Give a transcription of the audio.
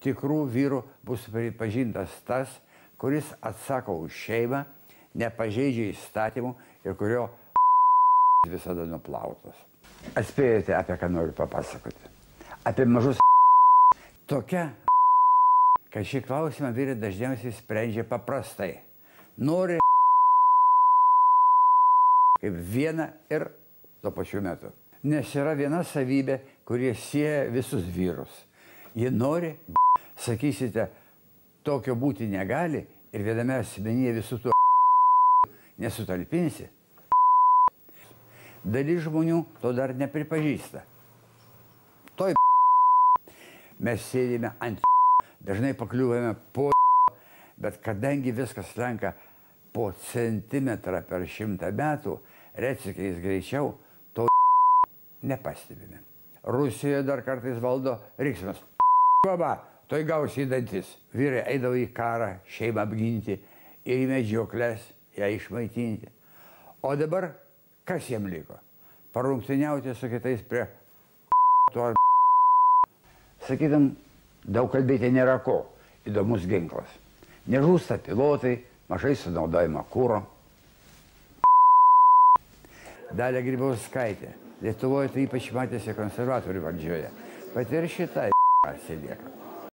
tikrų vyrų bus pripažintas tas, kuris atsako už šeimą, nepažeidžia įstatymų ir kurio visada nuplautas. Atspėjote, apie ką noriu papasakoti. Apie mažus tokia, kad šį klausimą vyrai dažniausiai sprendžia paprastai. Nori kaip vieną ir tuo pačiu metu. Nes yra viena savybė, kurie sieja visus vyrus. Jie nori, sakysite, tokio būti negali ir viename asmenyje visų tų nesutalpinsi. Dalis žmonių to dar nepripažįsta. Toj mes sėdime ant dažnai pakliūvame po bet kadangi viskas slenka po centimetrą per 100 metų, retsykiais greičiau, to nepastebime. Rusijoje dar kartais valdo riksmas. Baba, toj gausi į dantis. Vyrai eidavo į karą, šeimą apginti ir į medžioklės ją išmaitinti. O dabar kas jiem liko? Parungtiniauti su kitais prie to ar sakytum, daug kalbėti nėra ko. Įdomus ginklas. Nežūsta pilotai, mažai sunaudojama kuro. Dalia Grybauskaitė. Lietuvoje tai ypač matėsi konservatorių valdžioje. Pat ir šitą atsilieka.